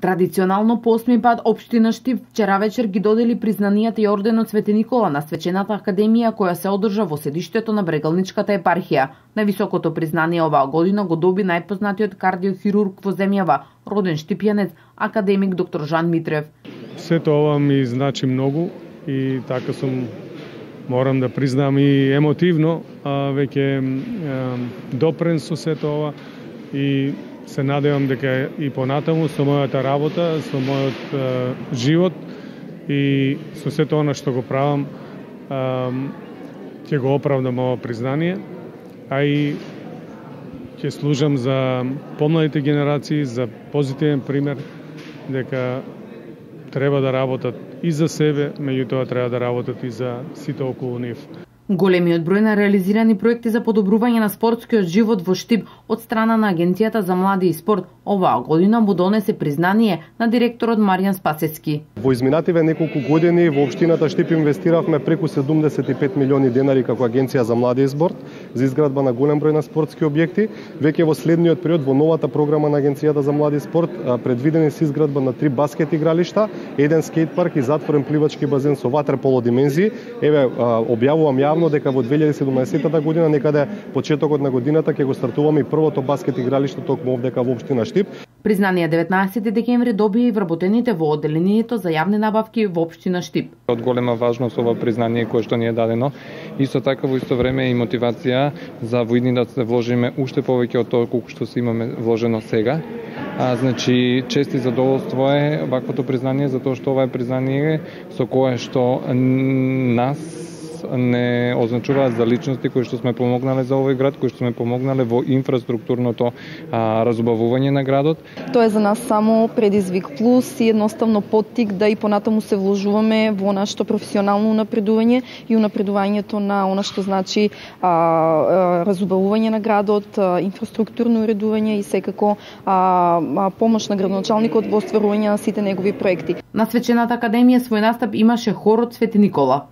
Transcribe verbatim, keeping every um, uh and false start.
Традиционално по осми пат општина Штип вчера вечер ги додели признанијата и орденот Свети Никола на свечената академија која се одржа во седиштето на Брегалничката епархија. Највисокото признание оваа година го доби најпознатиот кардиохирург во земјава, роден штипјанец, академик доктор Жан Митрев. Сето ова ми значи многу и така сум, морам да признам, и емотивно, а веќе допрен со сето ова и се надевам дека и понатаму со мојата работа, со мојот е, живот и со сето она што го правам, ќе го оправдам ова признание, а и ќе служам за помладите генерации, за позитивен пример дека треба да работат и за себе, меѓутоа треба да работат и за сите околу нив. Големиот број на реализирани проекти за подобрување на спортскиот живот во Штип од страна на Агенцијата за млади и спорт оваа година му донесе признание на директорот Маријан Спасецки. Во изминативе неколку години во општината Штип инвестиравме преку седумдесет и пет милиони денари како Агенција за млади и спорт за изградба на голем број на спортски објекти. Веќе во следниот период во новата програма на Агенцијата за млади и спорт предвидени се изградба на три баскет игралишта, еден скејт парк и затворен пливачки базен со ватерполо димензии. Еве објавувам јавно дека во две илјади и седумнаесетта година, некаде почетокот на годината, ќе го стартуваме и првото баскет игралиште токму овдека во општина Штип. Признание деветнаесети декември добија и вработените во одделението за јавни набавки во општина Штип. Од голема важност ова признание кое што ни е дадено, исто така во исто време и мотивација за во идни да се вложиме уште повеќе од тоа колку што се имаме вложено сега. А, значи, чест и задоволство е ваквото признание, затоа што ова е признание со кое што нас не означуваат за личности кои што сме помогнале за овој град, кои што сме помогнале во инфраструктурното а, разубавување на градот. Тоа е за нас само предизвик плюс и едноставно поттик да и понатаму се вложуваме во нашето професионално напредување и унапредувањето на она што значи а, а, разубавување на градот, а, инфраструктурно уредување и секако а, а, помош на градоначалникот во остварување на сите негови проекти. На свечената академија свој настап имаше хорот Свети Никола.